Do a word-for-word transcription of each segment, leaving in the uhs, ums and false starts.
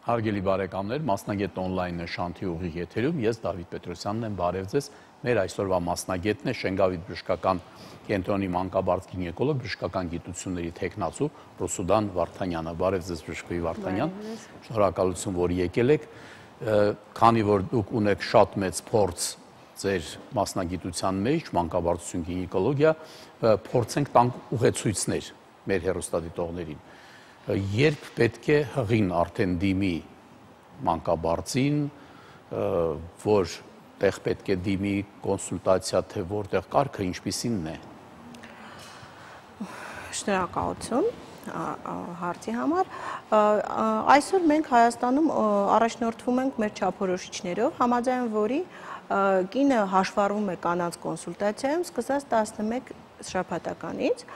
Հարգելի բարեկամներ, մասնագետ on-line նշանթի ուղիղ եթերում ես Դավիթ Պետրոսյանն եմ, բարև ձեզ։ Մեր այսօրվա մասնագետն է Շենգավիթ բժշկական կենտրոնի մանկաբարձ գինեկոլոգ, բժշկական գիտությունների թեկնածու Ռուսուդան Վարդանյանը։ Բարև ձեզ բժշկվի Վարդանյան։ Շնորհակալություն, որ եկել եք։ Քանի որ դուք ունեք շատ մեծ փորձ ձեր մասնագիտության մեջ, մանկաբարձություն, գինեկոլոգիա, փորձենք տանք ուղեցույցներ մեր հեռուստադիտողներին։ Երբ պետք է հղին արդեն դիմի մանկաբարձին, որ տեղ պետք է դիմի կոնսուլտացիա, թե որտեղ կարգը ինչպիսինն է։ Շնորհակալություն հարցի համար։ Այսօր մենք Հայաստանում առաջնորդվում ենք մեր չափորոշիչներով, համաձայն որի կինը հաշվառվում է կանանց կոնսուլտացիայում սկսած տասնմեկ շաբաթականից։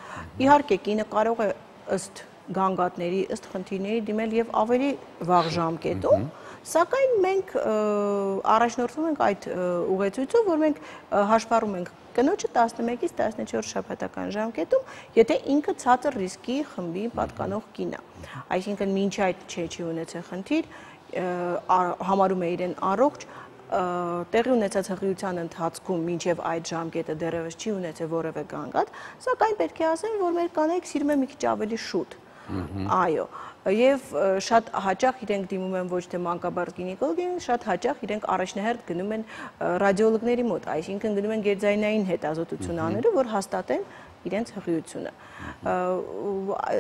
Իհարկե կինը կարող է ըստ գանգատների, ըստ խնդիրների դիմել եւ ավելի վաղ ժամկետում, սակայն մենք առաջնորդվում ենք այդ ուղեցույցով, որ մենք հաշվառում ենք կնոջը տասնմեկից տասնչորս շաբաթական ժամկետում, եթե ինքը ցածր ռիսկի խմբի պատկանող կին է։ Այսինքն մինչ այդ չէ չի ունեցել խնդիր, համարում է իրեն առողջ, տեղի ունեցած հղիության ընթացքում մինչև այդ ժամկետը դեռևս չի ունեցել որևէ գանգատ, սակայն պետք է ասեմ, որ մեր կանայք սիրում են մի քիչ ավելի շուտ։ Այո, եւ շատ հաճախ իրենք դիմում են ոչ թե մանկաբարձ գինեկոլոգին, շատ հաճախ իրենք առաջնահերթ գնում են ռադիոլոգների մոտ, այսինքն գնում են գերձայնային հետազոտություն անելու, որ հաստատեն իրենց հղիությունը։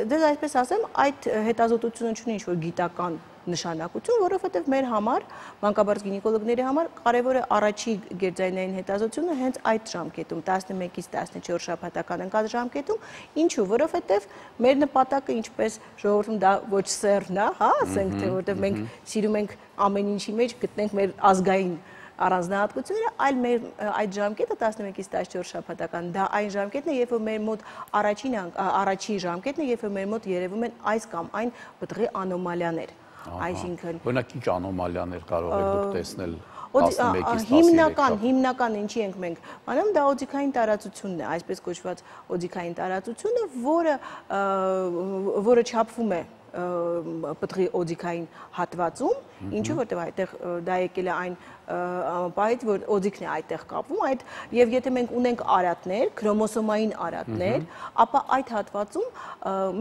Դες այսպես ասեմ, այդ հետազոտությունը չունի ինչ-որ գիտական նշանակություն, որովհետև մեր համար, մանկաբարձ գինեկոլոգների համար կարևոր է առաջի գերձայնային հետազոտությունը հենց այդ ժամկետում, տասնմեկից տասնչորս շաբաթական ընկած ժամկետում, ինչու, որովհետև մեր նպատակը ինչպես ժողովրդում դա ոչ սերն է, հա, ասենք թե որովհետև մենք սիրում ենք ամեն ինչի մեջ գտնենք մեր ազգային առանձնահատկությունները, այլ մեր այդ ժամկետը տասնմեկից տասնչորս շաբաթական, դա այն ժամկետն է, երբ որ մեր մոտ առաջին առաջի ժամկետն է, երբ որ մեր մոտ երևում են այս կամ այն պտղի անոմալիաներ։ Այսինքն օրինակ ինչ անոմալիաներ կարող եք դուք տեսնել տասնմեկից հիմնական հիմնական ինչի ենք մենք անում, դա օձիքային տարածությունն է, այսպես կոչված օձիքային տարածությունը, որը որը չափվում է պտղի օձիքային հատվածում, ինչու որտեղ այդտեղ դա եկել է այն պահից, որ օձիքն է այդտեղ կապվում, այդ եւ եթե մենք ունենք արատներ, քրոմոսոմային արատներ, ապա այդ հատվածում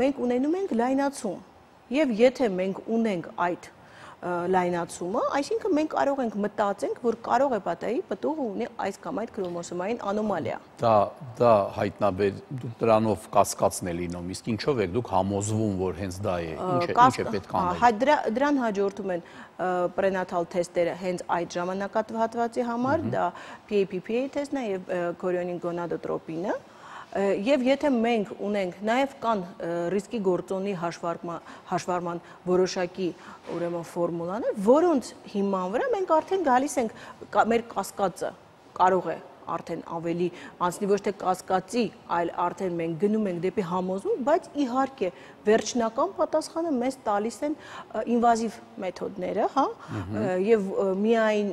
մենք ունենում ենք լայնացում։ Եվ եթե մենք ունենք այդ լայնացումը, այսինքն մենք կարող ենք մտածենք, որ կարող է պատահի պտուղը ունի այս կամ այդ քրոմոսոմային անոմալիա։ Դա դա հայտնաբեր դուք դրանով կասկածն է լինում, իսկ ինչով եք դուք համոզվում, որ հենց դա է, ինչ է, ինչ է պետք անել։ Դրան հաջորդում են պրենատալ թեստերը հենց այդ ժամանակահատվածի համար, դա P A P P A թեստն է եւ քորիոնին գոնադոտրոպինը։ Եվ եթե մենք ունենք, նաև կան ռիսկի գործոնի հաշվառման որոշակի ուրեմն ֆորմուլաներ, որոնց հիման վրա մենք արդեն գալիս ենք մեր կասկածը կարող է արդեն ավելի անցնի ոչ թե կասկածի, այլ արդեն մենք գնում ենք դեպի համոզում, բայց իհարկե վերջնական պատասխանը մեզ տալիս են ինվազիվ մեթոդները, հա, եւ միայն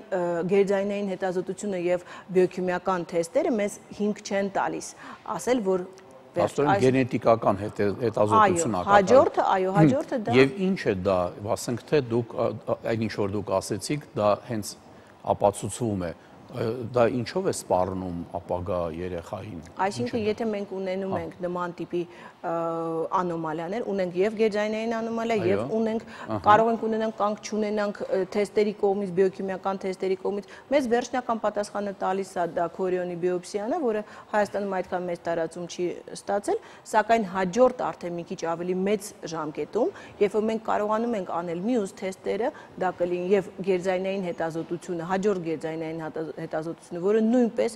գերձայնային հետազոտությունը եւ բիոքիմիական թեստերը մեզ հիմք չեն տալիս, ասել որ Աստորեն գենետիկական հետազոտություն ակա։ Հաջորդը, այո, հաջորդը դա։ Եվ ինչ է դա, ասենք թե դուք այն ինչ որ դուք ասեցիք, դա հենց ապացուցվում է։ Դա ինչով է սպառնում ապագա երեխային։ Այսինքն եթե մենք ունենում ենք նման տիպի անոմալիաներ, ունենք եւ գերձայնային անոմալիա եւ ունենք կարող ենք ունենանք կանք չունենանք թեստերի կողմից, բիոքիմիական թեստերի կողմից, մեզ վերջնական պատասխանը տալիս է դա քորիոնի բիոպսիան է, որը Հայաստանում այդքան մեծ տարածում չի ստացել, սակայն հաջորդ արդեն մի քիչ ավելի մեծ ժամկետում, երբ որ մենք կարողանում ենք անել մյուս թեստերը, դա կլինի եւ գերձայնային հետազոտությունը, հաջորդ գերձայնային հետազոտությունը, որը նույնպես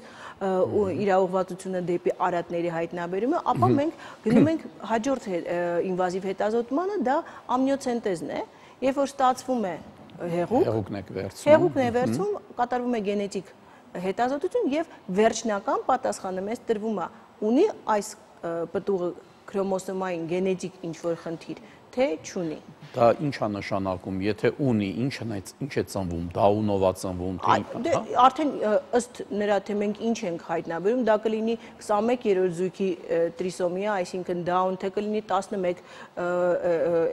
իր ուղղվածությունը դեպի արատների հայտնաբերում է, ապա մենք գնում ենք հաջորդ ինվազիվ հետազոտմանը, դա ամնիոցենտեզն է, երբ որ ստացվում է հեղուկ, հեղուկն եք վերցնում, հեղուկն է վերցում, կատարվում է գենետիկ հետազոտություն եւ վերջնական պատասխանը մեզ տրվում է, ունի այս պտուղը քրոմոսոմային գենետիկ ինչ-որ խնդիր, թե չունի։ Դա ինչ է նշանակում, եթե ունի, ինչ է ծնվում, դա ունով է ծնվում, թե արդեն ըստ նրա թե մենք ինչ ենք հայտնաբերում, դա կլինի քսանմեկ-երրորդ զույգի տրիսոմիա, այսինքն Down, թե կլինի տասնմեկ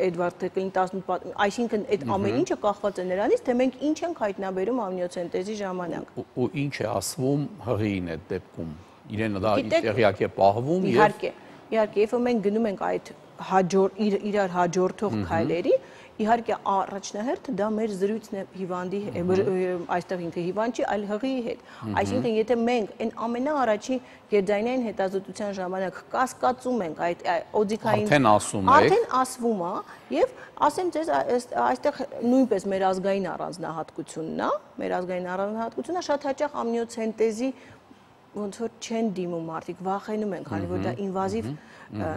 Edward, թե կլինի տասնութ, այսինքն այդ ամեն ինչը կախված է նրանից, թե մենք ինչ ենք հայտնաբերում ամնիոցենտեզի ժամանակ։ Ու ինչ է ասվում հղիին այդ դեպքում։ Իրենը դա տեղյակ է պահվում եւ Իհարկե, իհարկե, երբ մենք գնում ենք այդ իրար հաջորդող քայլերի, իհարկե առաջնահերթը դա մեր զրույցն է հիվանդի, այստեղ ինքը հիվանդ չի, այլ հղիի հետ։ Այսինքն, եթե մենք այն ամենաառաջի գերձայնային հետազոտության ժամանակ կասկածում ենք այդ օձիքային, արդեն ասում եք, արդեն ասվում է, եւ ասեմ ձեզ, այստեղ նույնպես մեր ազգային առանձնահատկությունն է, մեր ազգային առանձնահատկությունը շատ հաճախ ամնիոցենտեզի ոնց որ չեն դիմում մարդիկ, վախենում են, քանի որ դա ինվազիվ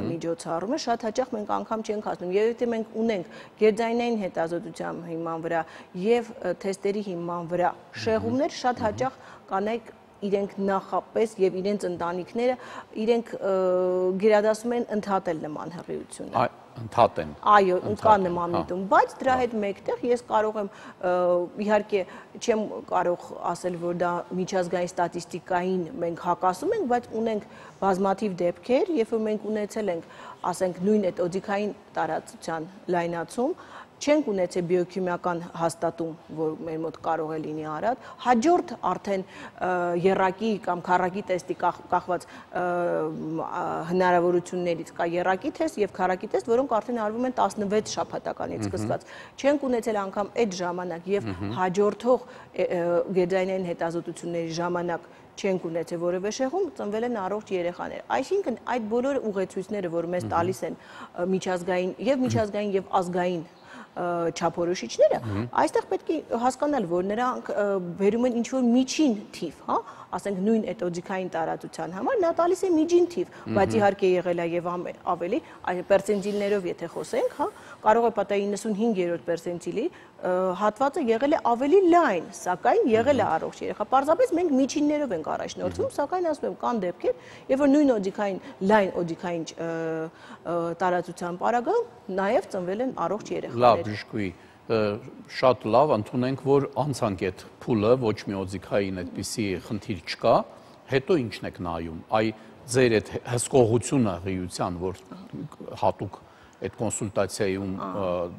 միջոցառում է, շատ հաճախ մենք անգամ չենք ասում, եւ եթե մենք ունենք գերձայնային հետազոտության հիման վրա եւ թեստերի հիման վրա շեղումներ, շատ հաճախ կանայք իրենք նախապես եւ իրենց ընտանիքները իրենք գերադասում են ընդհատել նման հղիությունը։ Ընդհատեն։ Այո, կա նման միտում, բայց դրա հետ մեկտեղ ես կարող եմ իհարկե չեմ կարող ասել, որ դա միջազգային ստատիստիկային մենք հակասում ենք, բայց ունենք բազմաթիվ դեպքեր, երբ որ մենք ունեցել ենք, ասենք, նույն այդ օձիքային տարածության լայնացում, չենք ունեցել բիոքիմիական հաստատում, որ մեր մոտ կարող է լինի արատ, հաջորդ արդեն եռակի կամ քառակի տեստի կախված հնարավորություններից կա եռակի տեստ եւ քառակի տեստ, որոնք արդեն արվում են տասնվեց շաբաթականից սկսված։ Չենք ունեցել անգամ այդ ժամանակ եւ հաջորդող գերձայնային հետազոտությունների ժամանակ չենք ունեցել որևէ շեղում, ծնվել են առողջ երեխաներ։ Այսինքն այդ բոլոր ուղեցույցները, որ մեզ տալիս են միջազգային եւ միջազգային եւ ազգային չափորոշիչները, այստեղ պետք է հասկանալ, որ նրանք բերում են ինչ-որ միջին թիվ, հա, ասենք նույն այդ օձիքային տարածության համար, նա տալիս է միջին թիվ, բայց իհարկե եղել է եւ ավելի, պերցենտիլներով եթե խոսենք, հա, կարող է պատահի իննսունհինգերորդ պերցենտիլի հատվածը եղել է ավելի լայն, սակայն եղել է առողջ երեխա։ Պարզապես մենք միջիններով ենք առաջնորդվում, սակայն ասում եմ, կան դեպքեր, երբ որ նույն օձիքային, լայն օձիքային տարածության պարագայում նաեւ ծնվել են առողջ երեխաներ։ Լավ, Բժշկուհի, շատ լավ, ընդունենք, որ անցանք այդ փուլը, ոչ մի օձիքային այդպիսի խնդիր չկա, հետո ինչն եք նայում, այ ձեր այդ հսկողությունը հղիության, որ հատուկ այդ կոնսուլտացիայում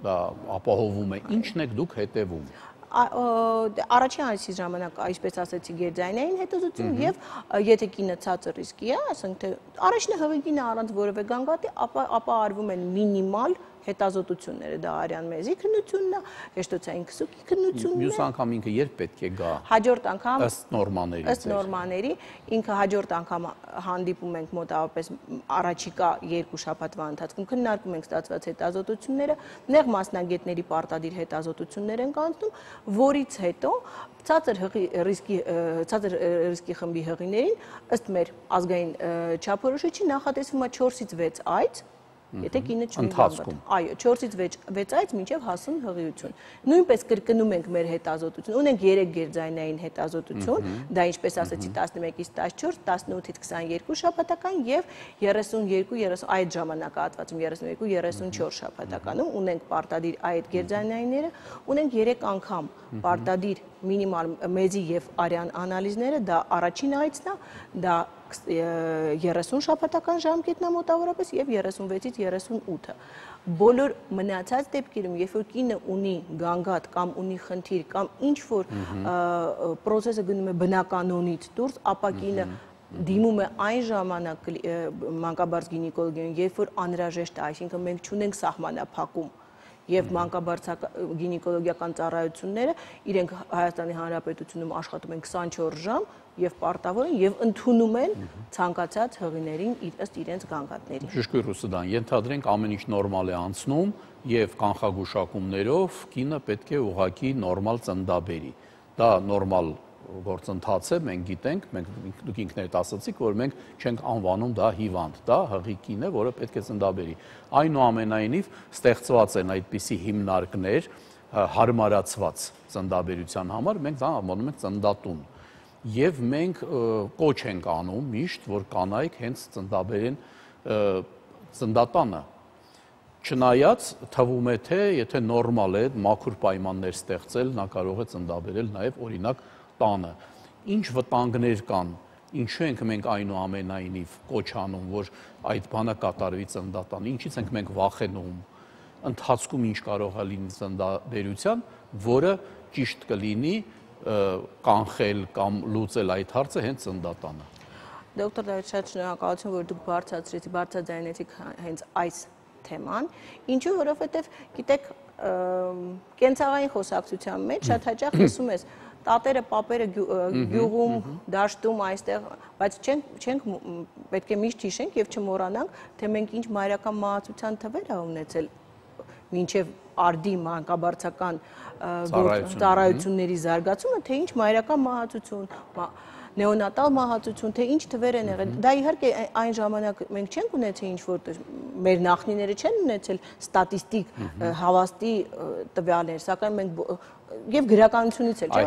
դա ապահովում է, ինչն եք դուք հետևում։ Առաջին այսի ժամանակ, այսպես ասեցի, գերձայնային հետազոտություն եւ եթե կինը ցածր ռիսկի է, ասենք թե առաջնահղի կինը առանց որևէ գանգատի, ապա արվում են մինիմալ հետազոտությունները, դա արյան մեզի քննությունն է, հեշտոցային քսուկի քննությունն է։ Մյուս անգամ ինքը երբ պետք է գա։ Հաջորդ անգամ ըստ նորմաների։ Ըստ նորմաների, ինքը հաջորդ անգամ հանդիպում ենք մոտավորապես առաջիկա երկու շաբաթվա ընթացքում քննարկում ենք ստացված հետազոտությունները, նեղ մասնագետների պարտադիր հետազոտություններ ենք անցնում, որից հետո ցածր հղի ռիսկի ցածր ռիսկի խմբի հղիներին ըստ մեր ազգային չափորոշիչի նախատեսվում է չորսից վեց այց, եթե կինը չունի գանգատ։ Այո, չորսից վեց այց մինչև հասուն հղիություն։ Նույնպես կրկնում ենք մեր հետազոտություն, ունենք երեք գերձայնային հետազոտություն, դա ինչպես ասեցի տասնմեկից տասնչորս, տասնութից քսաներկու շաբաթական եւ երեսունյոթ երեսուն այդ ժամանակահատվածում երեսունյոթ երեսունչորս շաբաթականում ունենք պարտադիր այդ գերձայնայինները, ունենք երեք անգամ պարտադիր մինիմալ մեզի եւ արյան անալիզները, դա առաջին այցն է, դա երեսուն շաբաթական ժամկետն է մոտավորապես եւ երեսունվեցից երեսունութը։ Բոլոր մնացած դեպքերում, երբ որ կինը ունի գանգատ կամ ունի խնդիր կամ ինչ որ process-ը գնում է բնականոնից դուրս, ապա կինը դիմում է այն ժամանակ մանկաբարձ գինեկոլոգիային, երբ որ անհրաժեշտ է, այսինքն մենք չունենք սահմանափակում եւ մանկաբարձ գինեկոլոգիական ծառայությունները իրենք Հայաստանի Հանրապետությունում աշխատում են քսանչորս ժամ եւ պարտավոր են եւ ընդունում են ցանկացած հղիներին ըստ իրենց գանգատների։ Բժշկուհի Ռուսուդան, ենթադրենք ամեն ինչ նորմալ է անցնում եւ կանխագուշակումներով կինը պետք է ուղղակի նորմալ ծննդաբերի։ Դա նորմալ գործընթաց է, մենք գիտենք, մենք դուք ինքներդ ասացիք, որ մենք չենք անվանում դա հիվանդ, դա հղի կին է, որը պետք է ծննդաբերի։ Այնուամենայնիվ ստեղծված են այդպիսի հիմնարկներ հարմարացված ծննդաբերության համար, մենք դա անվանում ենք ծննդատուն։ Եվ մենք կոչ ենք անում միշտ, որ կանայք հենց ծննդաբերեն ծննդատանը։ Չնայած թվում է թե եթե նորմալ է մաքուր պայմաններ ստեղծել, նա կարող է ծննդաբերել նաև օրինակ տանը։ Ինչ վտանգներ կան, ինչու ենք մենք այնուամենայնիվ կոչ անում, որ այդ բանը կատարվի ծննդատանը, ինչից ենք մենք վախենում, ընթացքում ինչ կարող է լինի ծննդաբերության, որը ճիշտ կլինի կանխել կամ լուծել այդ հարցը հենց ծննդատանը։ Դոկտոր Դավիթ, շատ շնորհակալություն, որ դուք բարձրացրեցիք, բարձրաձայնեցիք հենց այս թեման, ինչու, որովհետև գիտեք, կենցաղային խոսակցության մեջ շատ հաճախ լսում ես տատերը, պապերը գյուղում, դաշտում այստեղ, բայց չենք պետք է միշտ հիշենք եւ չմոռանանք, թե մենք ինչ մայրական մահացության թվեր ա ունեցել մինչև արդի մանկաբարձական ծառայությունների զարգացումը, թե ինչ մայրական մահացություն, նեոնատալ մահացություն, թե ինչ թվեր են եղել։ Դա իհարկե այն ժամանակ մենք չենք ունեցել ինչ-որ մեր նախնիները չեն ունեցել ստատիստիկ հավաստի տվյալներ, սակայն մենք եւ գրականությունից էլ, չէ՞։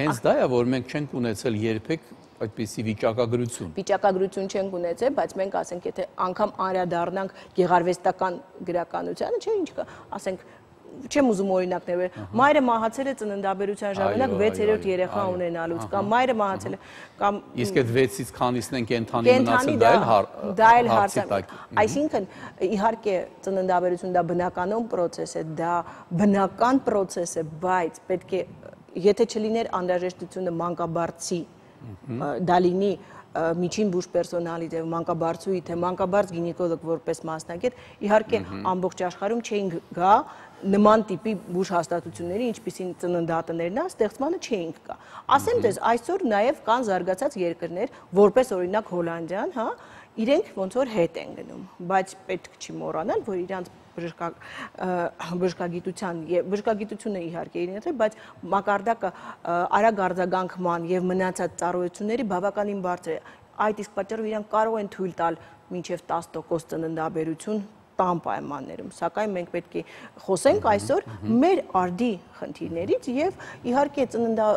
Հենց դա է, որ մենք չենք ունեցել երբեք այդպիսի վիճակագրություն։ Վիճակագրություն չենք ունեցել, բայց մենք ասենք, եթե անգամ անդրադառնանք գեղարվեստական գրականությանը, չէ՞ ինչ կա, ասենք չեմ ուզում օրինակներ բերել, մայրը մահացել է ծննդաբերության ժամանակ վեցերորդ երեխա ունենալուց, կամ մայրը մահացել է, կամ իսկ այդ վեցից քանիսն են կենդանի մնացել, դա էլ հարց է։ Այսինքն, իհարկե ծննդաբերություն դա բնականon process է, դա բնական process է, բայց պետք է, եթե չլիներ անհրաժեշտությունը մանկաբարձի, դա լինի միջին բուժ պերսոնալի, թե մանկաբարձուի, թե մանկաբարձ գինեկոլոգ որպես մասնագետ, իհարկե ամբողջ աշխարհում չէին գա նման տիպի բուժ հաստատությունների, ինչպիսին ծննդատներն է, ստեղծմանը չէինք գա։ Ասեմ դες, այսօր նաև կան զարգացած երկրներ, որպես օրինակ Հոլանդիան, հա, իրենք ոնց որ հետ են գնում, բայց պետք չի մոռանալ, որ իրանց բժշկագիտության եւ բժշկագիտությունը իհարկե իրենից է, բայց մակարդակը արագ արձագանքման եւ մնացած ծառայությունների բավականին բարձր է։ Այդ իսկ պատճառով իրանք կարող են թույլ տալ մինչեւ տասը տոկոս ծննդաբերություն տան պայմաններում, սակայն մենք պետք է խոսենք այսօր մեր արդի խնդիրներից եւ իհարկե ծննդա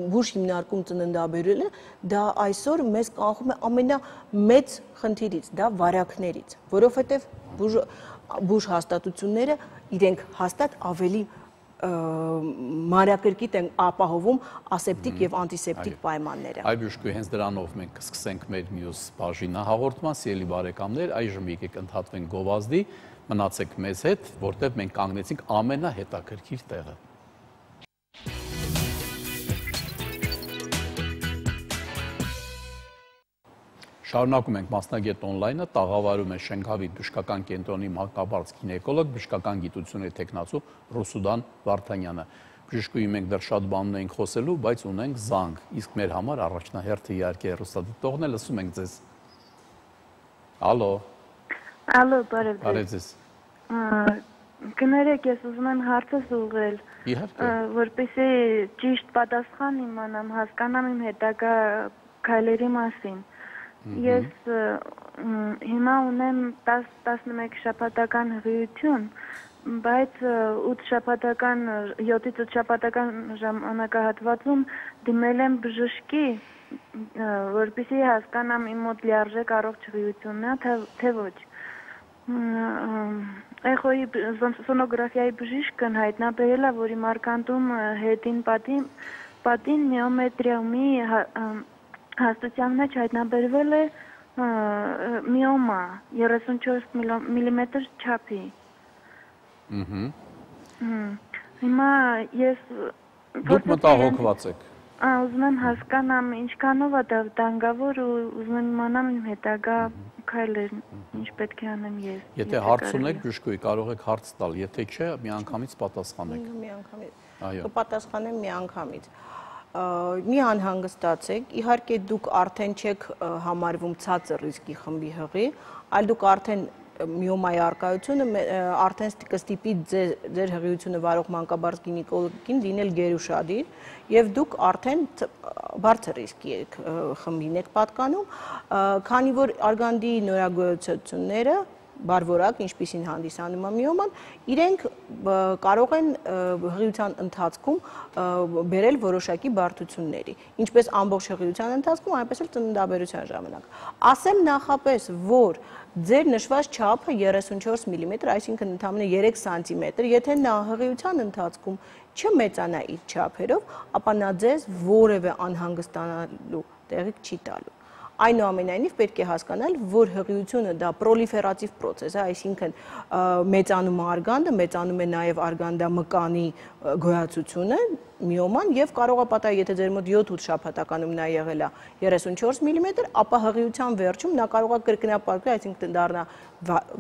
բուժ հիմնարկում ծննդաբերելը դա այսօր մեզ կանխում է ամենամեծ խնդիրից, դա վարակներից, որովհետեւ բուժ բուժ հաստատությունները իրենք հաստատ ավելի մանրակրկիտ են ապահովում ասեպտիկ եւ անտիսեպտիկ պայմանները։ Այ բժշկուհի, հենց դրանով մենք կսկսենք մեր մյուս բաժինահաղորդման, սիրելի բարեկամներ, այժմ եկեք ընդհատվենք գովազդի, մնացեք մեզ հետ, որտեղ մենք կանգնեցինք ամենահետաքրքիր տեղը։ Շարունակում ենք մասնագետ on-line-ը, տաղավարում է Շենգավիթ բժշկական կենտրոնի մանկաբարձ գինեկոլոգ, բժշկական գիտությունների թեկնածու Ռուսուդան Վարդանյանը։ Բժշկուհի, մենք դեռ շատ բաներ ենք խոսելու, բայց ունենք զանգ, իսկ մեր համար առաջնահերթը իհարկե հեռուստադիտողն է, լսում ենք ձեզ։ Ալո։ Ալո, բարև ձեզ։ Բարև ձեզ։ Կներեք, ես ուզում եմ հարցս ուղղել, որպեսզի ճիշտ պատասխան իմանամ, հասկանամ իմ հետագա քայլերի մասին։ Ես հիմա ունեմ տասնմեկ շաբաթական հղիություն, բայց ութ շաբաթական, յոթից ութ շաբաթական ժամանակահատվածում դիմել եմ բժշկի, որպեսզի հասկանամ իմ մոտ լիարժեք առողջ հղիությունն է, թե ոչ։ Էխոյի սոնոգրաֆիայի բժիշկն հայտնաբերել է, որ իմ արկանդում հետին պատին միոմետրիումի հաստության մեջ հայտնաբերվել է միոմա երեսունչորս միլիմետր չափի։ Հիմա ես Դուք մտահոգված եք։ Ուզում եմ հասկանամ ինչքանով է դա վտանգավոր ու ուզում եմ իմանամ իմ հետագա քայլերն ինչ պետք է անեմ ես։ Եթե հարց ունեք, բժշկուհի, կարող եք հարց տալ, եթե չէ, միանգամից պատասխանեք։ Միանգամից։ Կպատասխանեմ միանգամից։ Մի անհանգստացեք, իհարկե դուք արդեն չեք համարվում ցածր ռիսկի խմբի հղի, այլ դուք արդեն միոմայի առկայությունը արդեն կստիպի ձեր հղիությունը վարող մանկաբարձ գինեկոլոգին լինել գերուշադիր եւ դուք արդեն բարձր ռիսկի խմբին եք պատկանում, քանի որ արգանդի նորագույնությունները բարվորակ, ինչպիսին հանդիսանում է միոման, իրենք կարող են հղիության ընթացքում բերել որոշակի բարդությունների, ինչպես ամբողջ հղիության ընթացքում, այնպես էլ ծննդաբերության ժամանակ։ Ասեմ նախապես, որ ձեր նշված չափը երեսունչորս միլիմետր, այսինքն ընդամենը երեք սանտիմետր, եթե նա հղիության ընթացքում չմեծանա իր չափերով, ապա նա ձեզ որևէ անհանգստանալու տեղիք չի տալու։ Այնուամենայնիվ պետք է հասկանալ, որ հղիությունը դա պրոլիֆերատիվ պրոցես է, այսինքն մեծանում է արգանդը, մեծանում է նաև արգանդամկանի գոյացությունը, միոման եւ կարող է պատահել, եթե ձեր մոտ յոթ-ութ շաբաթականում նա եղել է երեսունչորս միլիմետր, ապա հղիության վերջում նա կարող է կրկնապատկվել, այսինքն դառնա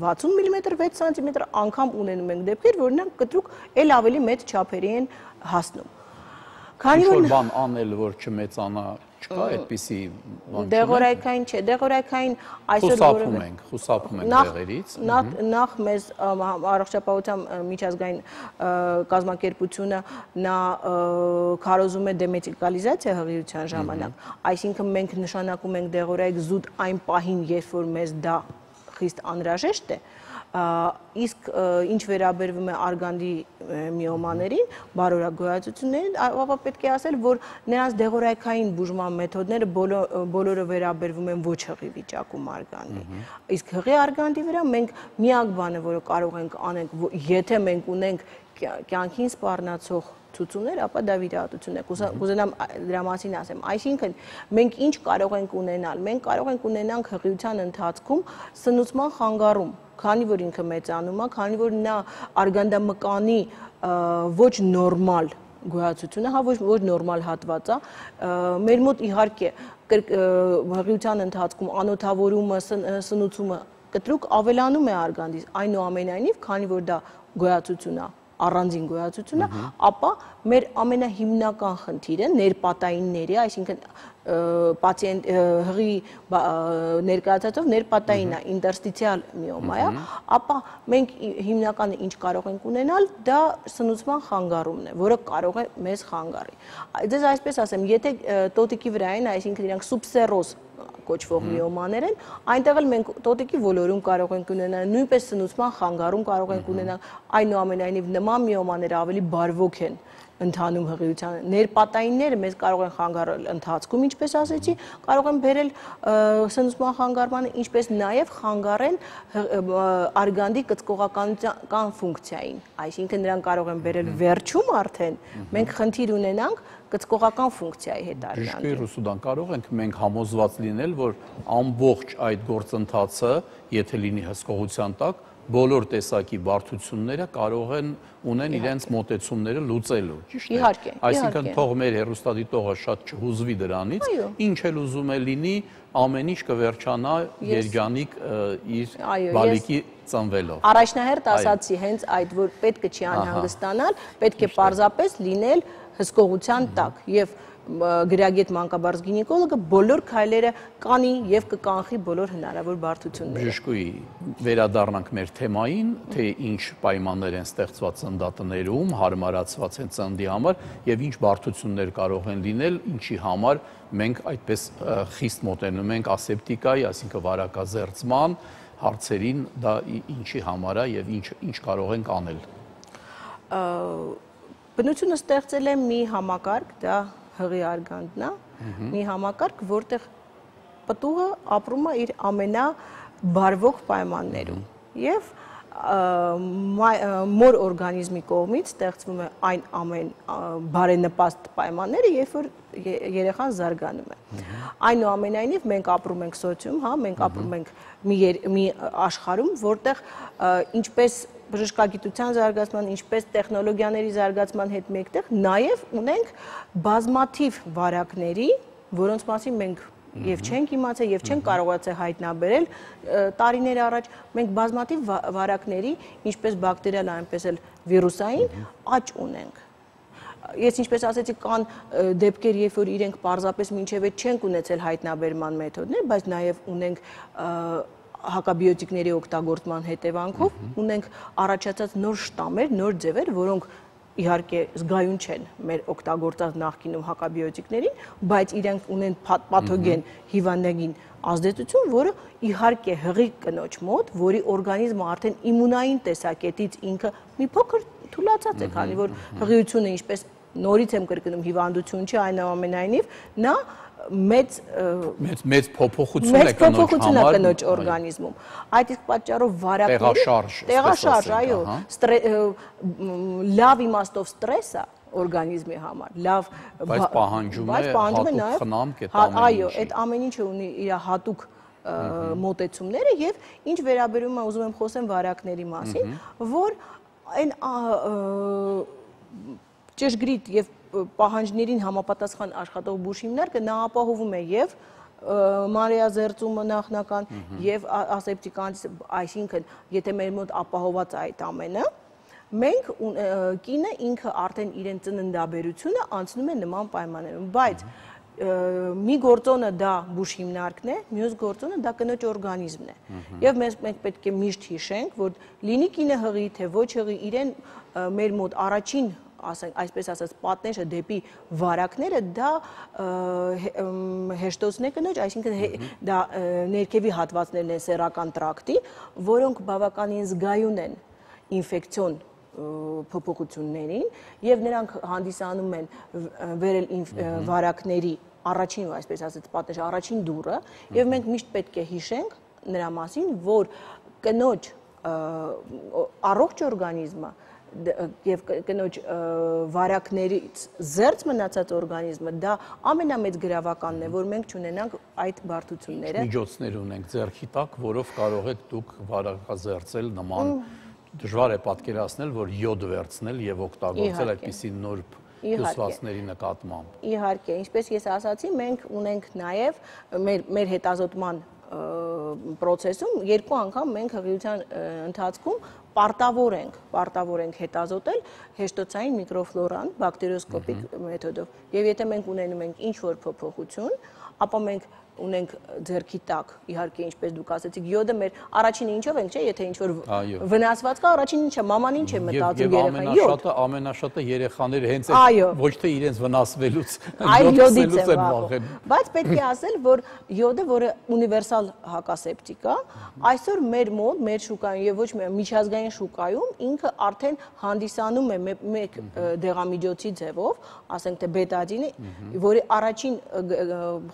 վաթսուն միլիմետր, վեց սանտիմետր, անգամ ունենում ենք դեպքեր, որ նրանք կտրուկ էլ ավելի մեծ չափերի են հասնում։ Ինչ-որ բան անել, որ չմեծանա, չկա այդպիսի բան։ Դեղորայքային չէ, դեղորայքային այսօր խուսափում ենք, խուսափում ենք դեղերից։ Նախ մեզ առողջապահության միջազգային կազմակերպությունը նա քարոզում է դեմետիկալիզացիա հղիության ժամանակ, այսինքն մենք նշանակում ենք դեղորայք զուտ այն պահին, երբ որ մեզ դա խիստ անհրաժեշտ է, իսկ ինչ վերաբերվում է արգանդի միոմաներին, բարորակ գոյացություններին, ապա պետք է ասել, որ նրանց դեղորայքային բուժման մեթոդները բոլորը վերաբերվում են ոչ հղի վիճակում արգանդի։ Իսկ հղի արգանդի վրա մենք միակ բանը, որը կարող ենք անենք, եթե մենք ունենք կյանքին սպառնացող ցուցումներ, ապա դա վիրահատություն է։ Կուզենամ դրա մասին ասեմ, այսինքն մենք ինչ կարող ենք ունենալ, մենք կարող ենք ունենանք հղիության ընթացքում սնուցման խանգարում, քանի որ ինքը մեծանում է, քանի որ նա արգանդամկանի ոչ նորմալ գոյացությունը, հա ոչ նորմալ հատված է, մեր մոտ իհարկե հղիության ընթացքում անոթավորումը, սնուցումը կտրուկ ավելանում է արգանդից, այնուամենայնիվ, քանի որ դա գոյացություն է, առանձին գոյացությունը, ապա մեր ամենահիմնական խնդիրը ներպատայինների, այսինքն պացիենտ հղի ներկայացածով ներպատային է, ինտերստիցիալ միոմա է, ապա մենք հիմնականը ինչ կարող ենք ունենալ, դա սնուցման խանգարումն է, որը կարող է մեզ խանգարի։ Ձեզ այսպես ասեմ, եթե տոտիկի վրա են, այսինքն իրանք սուբսերոզ կոչվող միոմաներ են, այնտեղ էլ մենք տոտիկի ոլորում կարող ենք ունենալ, նույնպես սնուցման խանգարում կարող ենք ունենալ, այնուամենայնիվ նման միոմաները ավելի բարվոք են ընդհանում հղիության, ներպատայինները մեզ կարող են խանգարել ընթացքում, ինչպես ասեցի, կարող են բերել սնուցման խանգարմանը, ինչպես նաև խանգարեն արգանդի կծկողականության ֆունկցիային, այսինքն նրանք կարող են բերել վերջում արդեն, մենք խնդիր ունենանք կծկողական ֆունկցիայի հետ արգանդի։ Բժիշկ Ռուսուդան, կարող ենք մենք համոզված լինել, որ ամբողջ այդ գործընթացը, եթե լինի հսկողության տակ, բոլոր տեսակի բարդությունները կարող են ունեն իրենց մոտեցումները լուծելու, ճիշտ է։ Իհարկե, այսինքն թող մեր հեռուստադիտողը շատ չհուզվի դրանից, ինչ էլ ուզում է լինի, ամեն ինչ կվերջանա երջանիկ իր բալիկի ծնվելով։ Առաջնահերթ ասացի հենց այդ, որ պետք է չի անհանգստանալ, պետք է պարզապես լինել հսկողության տակ եւ գրագետ մանկաբարձ գինեկոլոգը բոլոր քայլերը կանի եւ կկանխի բոլոր հնարավոր բարդությունները։ Բժշկուհի, վերադառնանք մեր թեմային, թե ինչ պայմաններ են ստեղծված ծննդատներում, հարմարացված են ծննդի համար եւ ինչ բարդություններ կարող են լինել, ինչի համար մենք այդպես խիստ մոտենում ենք ասեպտիկայի, այսինքն վարակազերծման հարցերին, դա ինչի համար է եւ ինչ ինչ կարող ենք անել։ Բնությունը ստեղծել է մի համակարգ, դա հղի արգանդն է, մի համակարգ, որտեղ պտուղը ապրում է իր ամենաբարվոք պայմաններում եւ մոր օրգանիզմի կողմից ստեղծվում է այն ամեն բարենպաստ պայմանները, երբ որ երեխան զարգանում է։ Այնուամենայնիվ մենք ապրում ենք սոցիում, հա, մենք ապրում ենք մի աշխարհում, որտեղ ինչպես բժշկագիտության զարգացման, ինչպես տեխնոլոգիաների զարգացման հետ մեկտեղ նաև ունենք բազմաթիվ վարակների, որոնց մասին մենք եւ չենք իմացել եւ չենք կարողացել հայտնաբերել տարիներ առաջ, մենք բազմաթիվ վարակների, ինչպես բակտերիալ, այնպես էլ վիրուսային աճ ունենք։ Ես ինչպես ասեցի, կան դեպքեր, երբ որ իրենք պարզապես մինչև այդ չենք ունեցել հայտնաբերման մեթոդներ, բայց նաև ունենք հակաբիոտիկների օգտագործման հետևանքով ունենք առաջացած նոր շտամեր, նոր ձևեր, որոնք իհարկե զգայուն չեն մեր օգտագործած նախկինում հակաբիոտիկներին, բայց իրենք ունեն պաթոգեն հիվանդագին ազդեցություն, որը իհարկե հղի կնոջ մոտ, որի օրգանիզմը արդեն իմունային տեսակետից ինքը մի փոքր թուլացած է, քանի որ հղիությունը ինչպես նորից եմ կրկնում հիվանդություն չի, այնուամենայնիվ նա մեծ մեծ փոփոխություն է կնոջ օրգանիզմում։ Այդ իսկ պատճառով վարակները տեղաշարժ, այո, լավ իմաստով ստրեսը օրգանիզմի համար, լավ բայց պահանջում է հատուկ խնամք այդ ամեն ինչը։ Այո, այդ ամեն ինչը ունի իր հատուկ մոտեցումները եւ ինչ վերաբերում է ուզում եմ խոսեմ վարակների մասին, որ այն ճշգրիտ եւ պահանջներին համապատասխան աշխատող բուժհիմնարկը նա ապահովում է եւ մանրէազերծումը նախնական եւ ասեպտիկ, այսինքն եթե մեր մոտ ապահոված է այդ ամենը, մենք կինը ինքը արդեն իրեն ծննդաբերությունը անցնում է նման պայմաններում, բայց մի գործոնը դա բուժհիմնարկն է, մյուս գործոնը դա կնոջ օրգանիզմն է։ Եվ մենք պետք է միշտ հիշենք, որ լինի կինը հղի, թե ոչ հղի, իրեն մեր մոտ առաջին այսպես ասած պատնեշը դեպի վարակները դա հեշտոցն է կնոջ, այսինքն դա ներքևի հատվածներն են սեռական տրակտի, որոնք բավականին զգայուն են ինֆեկցիոն փոփոխություններին եւ նրանք հանդիսանում են վերել վարակների առաջին, այսպես ասած, պատնեշ առաջին դուռը եւ մենք միշտ պետք է հիշենք նրա մասին, որ կնոջ առողջ օրգանիզմը եւ կնոջ վարակներից զերծ մնացած օրգանիզմը դա ամենամեծ գրավականն է, որ մենք չունենանք այդ բարդությունները։ Միջոցներ ունենք ձեռքի տակ, որով կարող եք դուք վարակազերծել նման դժվար է պատկերացնել, որ յոդ վերցնել եւ օգտագործել այդպիսի նուրբ հյուսվածքների նկատմամբ։ Իհարկե, ինչպես ես ասացի, մենք ունենք նաեւ մեր մեր հետազոտման պրոցեսում երկու անգամ մենք հղիության ընթացքում պարտավոր ենք, պարտավոր ենք հետազոտել հեշտոցային միկրոֆլորան բակտերիոսկոպիկ մեթոդով։ Եվ եթե մենք ունենում ենք ինչ-որ փոփոխություն, ապա մենք ունենք ձեռքի տակ, իհարկե ինչպես դուք ասեցիք, յոդը մեր առաջինը ինչով ենք, չէ, եթե ինչ-որ վնասված կա, առաջին ինչը, մաման ինչ է մտածում երեխան, յոդ։ Ամենաշատը երեխաները հենց ոչ թե իրենց վնասվելուց, այլ յոդից են վախենում։ Բայց պետք է ասել, որ յոդը, որը ունիվերսալ հակասեպտիկ է, այսօր մեր մոտ, մեր շուկայում եւ ոչ միայն միջազգային շուկայում ինքը արդեն հանդիսանում է մեկ դեղամիջոցի ձևով, ասենք թե բետադինը, որի առաջին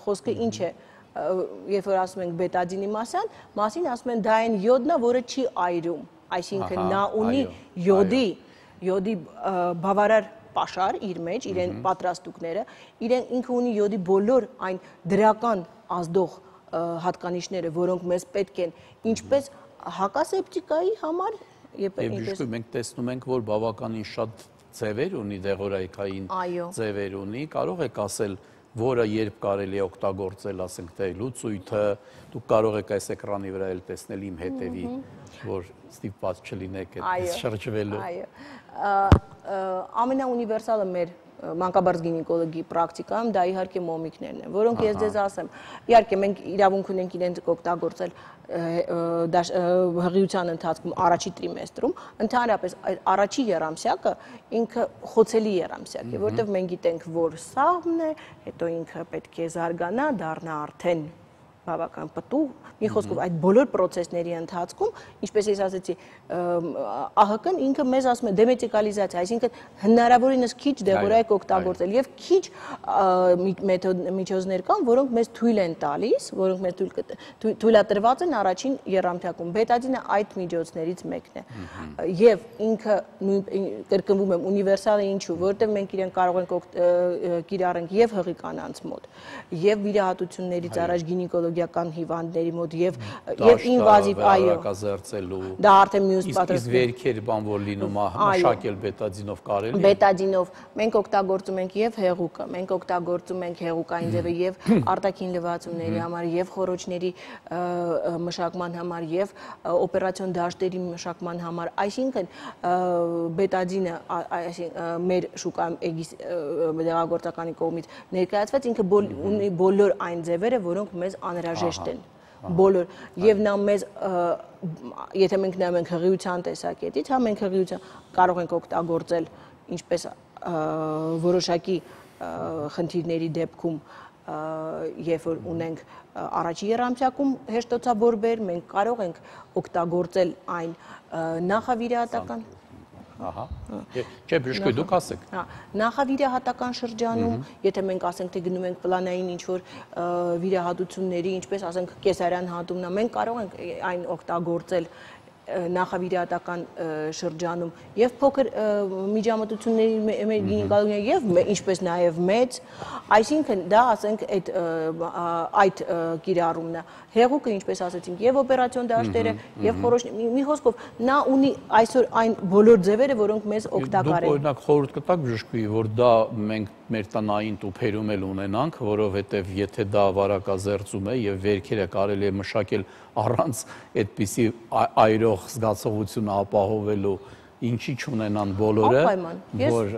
խոսքը ինչ է, երբ որ ասում ենք բետադինի մասին, մասին ասում են դա այն յոդն է, որը չի այրում, այսինքն նա ունի յոդի, յոդի բավարար պաշար իր մեջ, իրեն պատրաստուկները, իրեն ինքը ունի յոդի բոլոր այն դրական ազդող հատկանիշները, որոնք մեզ պետք են, ինչպես հակասեպտիկայի համար, եւ ճիշտ մենք տեսնում ենք, որ բավականին շատ ձևեր ունի, դեղորայքային ձևեր ունի, կարող եք ասել որը երբ կարելի է օգտագործել, ասենք թե լուծույթը, դուք կարող եք այս էկրանի վրա էլ տեսնել իմ հետևի, որ ստիպված չլինեք այդպես շրջվելու։ Այո, ամենաունիվերսալը մեր մանկաբարձ գինեկոլոգի պրակտիկայում դա իհարկե մոմիկներն են, որոնք ես ձեզ ասեմ, իհարկե մենք իրավունք ունենք իրենց օգտագործել հղիության ընթացքում առաջի տրիմեստրում, ընդհանրապես առաջի եռամսյակը ինքը խոցելի եռամսյակ է, որտեղ մենք գիտենք, որ սաղմն է, հետո ինքը պետք է զարգանա, դառնա արդեն բավական պտուղ, մի խոսքով այդ բոլոր պրոցեսների ընթացքում, ինչպես ես ասեցի, ԱՀԿ-ն ինքը մեզ ասում է դեմետիկալիզացիա, այսինքն հնարավորինս քիչ դեղորայք օգտագործել եւ քիչ միջոցներ կան, որոնք մեզ թույլ են տալիս, որոնք մեզ թույլատրված են առաջին եռամթյակում։ Բետադինը այդ միջոցներից մեկն է։ Եվ ինքը կրկնվում եմ ունիվերսալ է ինչու, որովհետեւ մենք իրեն կարող ենք կիրառենք եւ հղի կանանց մոտ, եւ վիրահատություններից առաջ գինեկոլոգիական հիվանդների մոտ եւ եւ ինվազիվ, այո, դա արդեն մյուս պատրաստ։ Իսկ վերքեր բան որ լինում է, մշակել բետադինով կարելի է։ Բետադինով մենք օգտագործում ենք եւ հեղուկը, մենք օգտագործում ենք հեղուկային ձևը եւ արտաքին լվացումների համար եւ խոռոչների մշակման համար եւ օպերացիոն դաշտերի մշակման համար, այսինքն բետադինը մեր շուկայում էգիս դեղագործականի կողմից ներկայացված ինքը ունի բոլոր այն ձևերը, որոնք մեզ անհրաժեշտ են, բոլոր, եւ նա մեզ, եթե մենք նայում ենք հղիության տեսակետից, հա մենք հղիության կարող ենք օգտագործել ինչպես որոշակի խնդիրների դեպքում երբ որ ունենք առաջի եռամսյակում հեշտոցաբորբեր, մենք կարող ենք օգտագործել այն նախավիրահատական Ահա, չէ, բժշկուհի, դուք ասեք։ Նախավիրահատական շրջանում, եթե մենք ասենք, թե գնում ենք պլանային ինչ-որ վիրահատությունների, ինչպես ասենք կեսարյան հատումն, մենք կարող ենք այն օգտագործել նախավիրահատական շրջանում եւ փոքր միջամտությունների մեր գինեկոլոգիա եւ ինչպես նաեւ մեծ, այսինքն դա ասենք այդ այդ կիրառումն է։ Հեղուկը ինչպես ասացինք, եւ օպերացիոն դաշտերը եւ խորոշ մի խոսքով նա ունի այսօր այն բոլոր ձևերը, որոնք մեզ օգտակար են։ Դուք օրինակ խորհուրդ կտաք բժշկուհի, որ դա մենք մեր տնային տուփերում էլ ունենանք, որովհետեւ եթե դա վարակազերծում է եւ վերքերը կարելի է մշակել առանց այդպիսի այրող զգացողություն ապահովելու ինչի չունենան բոլորը, որ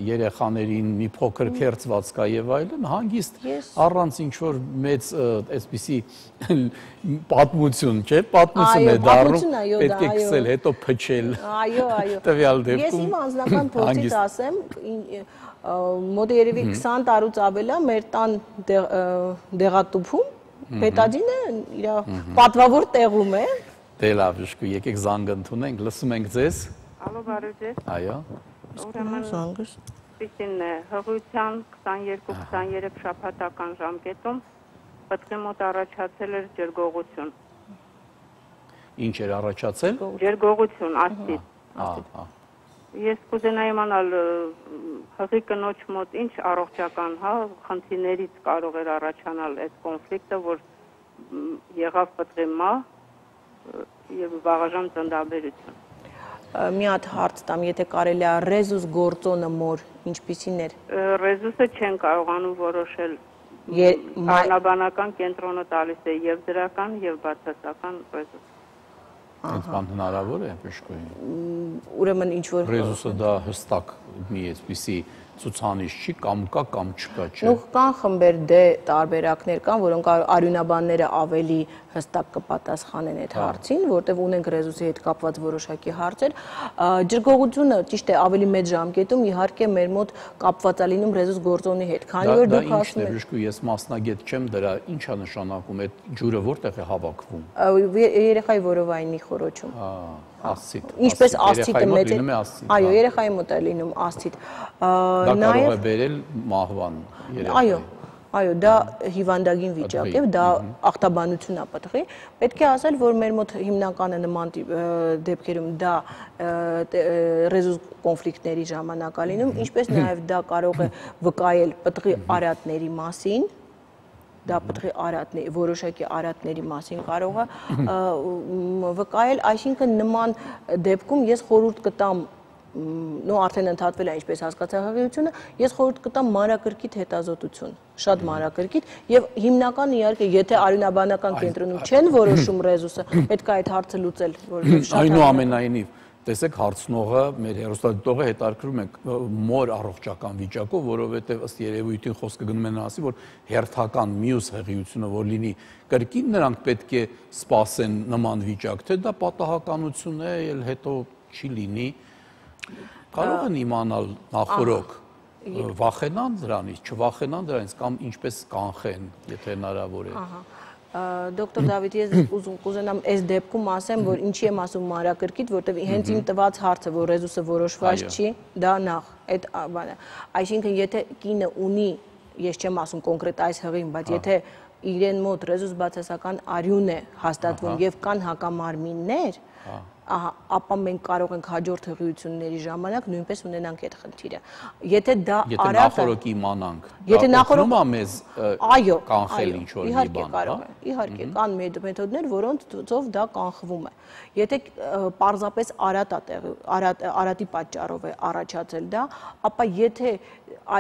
երեխաներին մի փոքր քերծված կա եւ այլն, հանգիստ առանց ինչ-որ մեծ այսպիսի պատմություն, չէ՞, պատմություն է դառնում, պետք է քսել, հետո փչել։ Այո, այո։ Տվյալ դեպքում։ Ես իմ անձնական փորձից ասեմ, մոտ երևի քսան տարուց ավել է մեր տան դեղատուփում բետադինը իր պատվավոր տեղում է։ Դե լավ, բժշկուհի, եկեք զանգ ընդունենք, լսում ենք ձեզ։ Ալո, բարև ձեզ։ Այո։ Ուրեմն զանգս։ Պիտին հղության քսաներկու քսաներեք շաբաթական ժամկետում պտղի մոտ առաջացել էր ջրգողություն։ Ինչ էր առաջացել։ Ջրգողություն, աստիճ։ Ես կուզենայի իմանալ հղի կնոջ մոտ ինչ առողջական, հա, խնդիրներից կարող էր առաջանալ այդ կոնֆլիկտը, որ եղավ պտղի մահ եւ վաղաժամ ծննդաբերություն։ Մի հատ հարց տամ, եթե կարելի է ռեզուս գործոնը մոր ինչպիսին էր։ Ռեզուսը չեն կարողանում որոշել։ Անաբանական կենտրոնը տալիս է եւ դրական եւ բացասական ռեզուս։ Այդ բան հնարավոր է բժշկուհի։ Ուրեմն ինչ որ ռեզուսը դա հստակ մի այսպիսի ցուցանիշ չի, կամ կա կամ չկա, չէ։ Ու կան խմբեր դե տարբերակներ կան, որոնք արյունաբանները ավելի հստակ կպատասխանեն այդ հարցին, որտեղ ունենք ռեզուսի հետ կապված որոշակի հարցեր։ Ջրգողությունը ճիշտ է ավելի մեծ ժամկետում իհարկե մեր մոտ կապված է լինում ռեզուս գործոնի հետ, քանի որ դուք ասում եք։ Բժշկուհի, ես մասնագետ չեմ, դրա ինչ է նշանակում, այդ ջուրը որտեղ է հավաքվում։ Երեխայի որովայնի խորոչում։ Ասցիտ։ Ինչպես ասցիտը մեծ է։ Այո, երեխայի մոտ է լինում ասցիտ։ Դա կարող է բերել մահվան երեխայի։ Այո, այո, դա հիվանդագին վիճակ է, դա ախտաբանություն է պտղի։ Պետք է ասել, որ մեր մոտ հիմնականը նման դեպքերում դա ռեզուս կոնֆլիկտների ժամանակ է լինում, ինչպես նաև դա կարող է վկայել պտղի արատների մասին, դա պտղի արատների, որոշակի արատների մասին կարող է վկայել, այսինքն նման դեպքում ես խորհուրդ կտամ, նո արդեն ընդհատվել է ինչպես հասկացա հղիությունը, ես խորհուրդ կտամ մանրակրկիտ հետազոտություն, շատ մանրակրկիտ եւ հիմնականը իհարկե եթե արյունաբանական կենտրոնում չեն որոշում ռեզուսը, պետք է այդ հարցը լուծել, որովհետեւ շատ այնուամենայնիվ տեսեք հարցնողը, մեր հեռուստադիտողը հետաքրքրում է մոր առողջական վիճակով, որովհետև ըստ երևույթին խոսքը գնում է նրան, որ հերթական մյուս հղիությունը որ լինի կրկին նրանք պետք է սպասեն նման վիճակ, թե դա պատահականություն է, էլ հետո չի լինի, կարող են իմանալ նախորոք, վախենան դրանից, չվախենան դրանից կամ ինչպես կանխեն, եթե հնարավոր է։ Դոկտոր Դավիթ, ես կուզենամ այս դեպքում ասեմ, որ ինչի եմ ասում մանրակրկիտ, որտեղ հենց իմ տված հարցը, որ ռեզուսը որոշված չի, դա նախ, այդ բանը։ Այսինքն, եթե կինը ունի, ես չեմ ասում կոնկրետ այս հղին, բայց եթե իրեն մոտ ռեզուս բացասական արյուն է հաստատվում եւ կան հակամարմիններ, ապա մենք կարող ենք հաջորդ հղիությունների ժամանակ նույնպես ունենանք այդ խնդիրը։ Եթե դա Եթե նախորոք իմանանք, եթե նախորոք մեզ այո, կանխել ինչ-որ մի իհարկե բան, կարող է, իհարկե կան մեթոդներ, որոնցով դա կանխվում է։ Եթե պարզապես արատ է տեղի, արատ արատի պատճառով է առաջացել դա, ապա եթե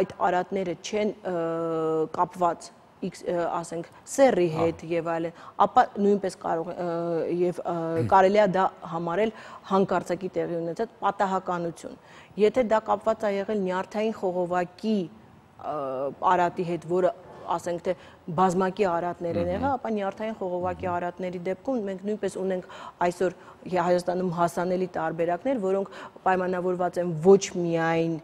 այդ արատները չեն կապված ասենք սեռի հետ եւ այլն, ապա նույնպես կարող եւ կարելի է դա համարել հանկարծակի տեղի ունեցած պատահականություն։ Եթե դա կապված է եղել նյարդային խողովակի արատի հետ, որը ասենք թե բազմակի արատներ են եղել, ապա նյարդային խողովակի արատների դեպքում մենք նույնպես ունենք այսօր Հայաստանում հասանելի տարբերակներ, որոնք պայմանավորված են ոչ միայն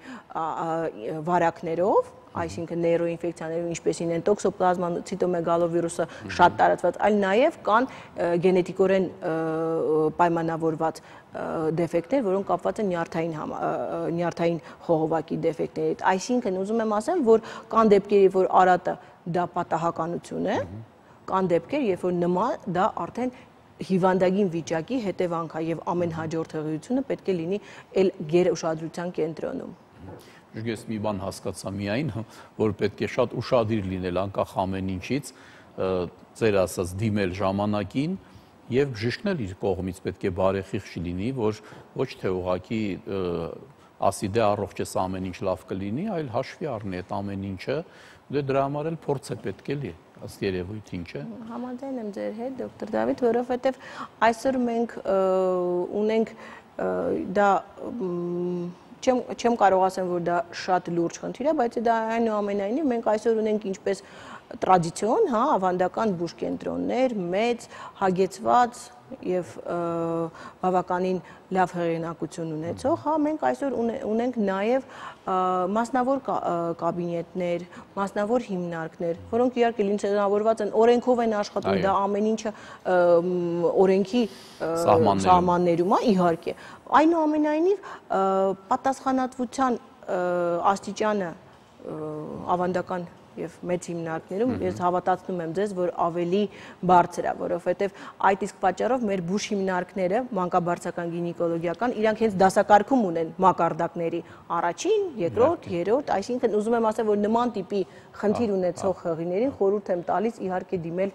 վարակներով, այսինքն նեյրոինֆեկցիաներով, ինչպեսին են տոքսոպլազման ցիտոմեգալովիրուսը շատ տարածված, այլ նաև կան գենետիկորեն պայմանավորված դեֆեկտներ, որոնք կապված են նյարդային խողովակի դեֆեկտների հետ։ Այսինքն ուզում եմ ասել, որ կան դեպքեր, երբ որ արատը դա պատահականություն է, կան դեպքեր, երբ որ նման դա արդեն հիվանդագին վիճակի հետևանք է եւ ամեն հաջորդ հղիությունը պետք է լինի այլ գերուշադրության կենտրոնում։ Ես մի բան հասկացա միայն, որ պետք է շատ ուշադիր լինել անկախ ամեն ինչից, ձեր ասած դիմել ժամանակին եւ բժիշկն էլ իր կողմից պետք է բարեխիղճ լինի, որ ոչ թե ուղղակի ասի դե առողջ ես ամեն ինչ լավ կլինի, այլ հաշվի առնի այդ ամեն ինչը, դե դրա համար էլ փորձ է պետք է լինի։ Ըստ երևույթին, չէ՞։ Համաձայն եմ ձեր հետ, դոկտոր Դավիթ, որովհետև այսօր մենք ունենք դա չեմ կարող ասեմ, որ դա շատ լուրջ խնդիր է, բայց դա այնուամենայնիվ մենք այսօր ունենք ինչպես տրադիցիոն, հա, ավանդական բուժկենտրոններ, մեծ, հագեցված եւ բավականին լավ հեղինակություն ունեցող, հա, մենք այսօր ունենք նաեւ մասնավոր կաբինետներ, մասնավոր հիմնարկներ, որոնք իհարկե լիցենզավորված են, օրենքով են աշխատում, դա ամեն ինչը օրենքի սահմաններում է, իհարկե։ Այնուամենայնիվ պատասխանատվության աստիճանը ավանդական եւ մեծ հիմնարկներում ես հավատացնում եմ ձեզ, որ ավելի բարձր է, որովհետեւ այդ իսկ պատճառով մեր բուժ հիմնարկները, մանկաբարձական գինեկոլոգիական, իրանք հենց դասակարգում ունեն մակարդակների առաջին, երկրորդ, երրորդ, այսինքն ուզում եմ ասել, որ նման տիպի խնդիր ունեցող հղիներին խորհուրդ եմ տալիս իհարկե դիմել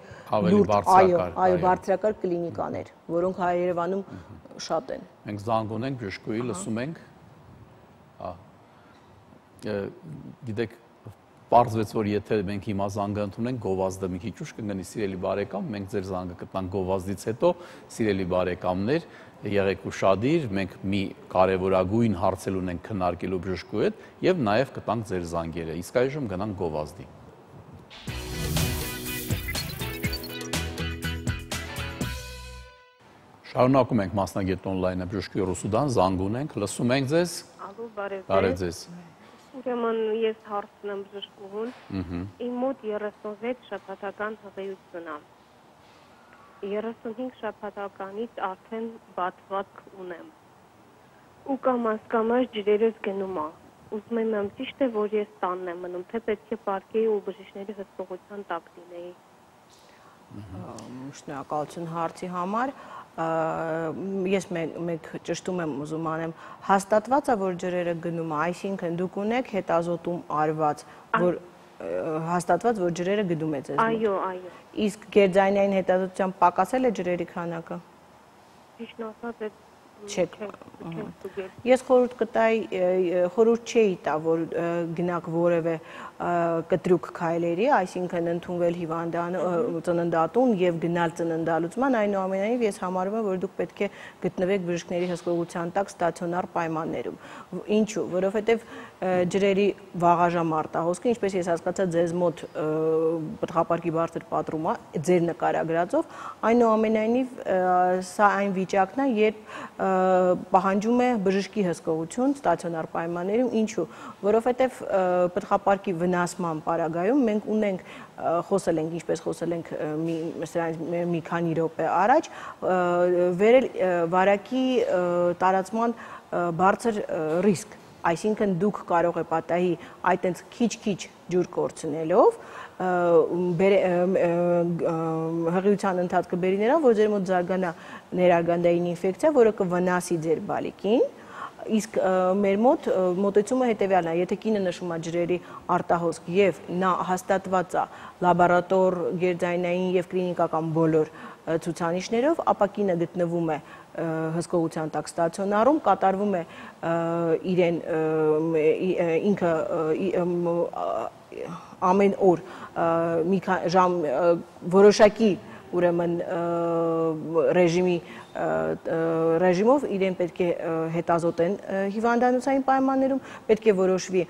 լուրջ, այո, այո, բարձրակարգ կլինիկաներ, որոնք Երևանում շատ են։ Մենք զանգ ունենք, բժշկուհի, լսում ենք։ Գիտեք, պարզվեց, որ եթե մենք հիմա զանգը ընդունենք, գովազդը մի քիչ ուշ կգնի, սիրելի բարեկամ, մենք ձեր զանգը կտանք գովազդից հետո, սիրելի բարեկամներ, եղեք ուշադիր, մենք մի կարևորագույն հարցեր ունենք քննարկելու բժշկու հետ եւ նաեւ կտանք ձեր զանգերը։ Իսկ այժմ գնանք գովազդի։ Շարունակում ենք մասնագետ on-line-ը բժշկի Ռուսուդան, զանգ ունենք, լսում ենք ձեզ։ Ալո, բարև ձեզ։ Բարև ձեզ։ Ուրեմն ես հարցն եմ բժշկուհուն, իմ մոտ երեսունվեց շաբաթական հղիություն է, երեսունհինգ շաբաթականից արդեն բացվածք ունեմ, ու կամաս-կամաս ջրերս գնում է, ուզում եմ ճիշտ է, որ ես տանն եմ մնում, թե պետք է պարկեի ու բժիշկների հսկողության տակ լինեի։ Շնորհակալություն հարցի համար, ես մեկ ճշտում եմ ուզում անեմ, հաստատված է, որ ջրերը գնում է, այսինքն դուք ունեք հետազոտում արված, որ հաստատված, որ ջրերը գնում է ձեզ մոտ։ Այո, այո։ Իսկ գերձայնային հետազոտությամբ պակասել է ջրերի քանակը։ Ճիշտ ասած, չեք։ Ես խորհուրդ կտայի, խորհուրդ չէի տա, որ գնաք որևէ կտրուկ քայլերի, այսինքն ընդունվել հիվանդան ծննդատուն եւ գնալ ծննդալուծման, այնուամենայնիվ ես համարում եմ, որ դուք պետք է գտնվեք բժիշկների հսկողության տակ ստացիոնար պայմաններում։ Ինչու՞, որովհետեւ ջրերի վաղաժամ արտահոսքը, ինչպես ես հասկացա, ձեզ մոտ պտղապարկի բարձր պատրում է, ձեր նկարագրածով, այնուամենայնիվ սա այն վիճակն է, երբ պահանջում է բժշկի հսկողություն ստացիոնար պայմաններում, ինչու, որովհետև պտղապարկի վնասման պարագայում մենք ունենք, խոսել ենք, ինչպես խոսել ենք մի քանի րոպե առաջ, վերել վարակի տարածման բարձր ռիսկ, այսինքն դուք կարող է պատահի այդ այնց քիչ-քիչ ջուր կորցնելով հղիության ընթացքը բերի նրան, որ ձեր մոտ զարգանա ներարգանդային ինֆեկցիա, որը կվնասի ձեր բալիկին, իսկ մեր մոտ մոտեցումը հետևյալն է, եթե կինը նշում է ջրերի արտահոսք եւ նա հաստատված է լաբորատոր, գերձայնային եւ կլինիկական բոլոր ցուցանիշներով, ապա կինը գտնվում է հսկողության տակ ստացիոնարում, կատարվում է իրեն ինքը ամեն օր մի ժամ որոշակի ուրեմն ռեժիմի ռեժիմով իրեն պետք է հետազոտեն հիվանդանոցային պայմաններում, պետք է որոշվի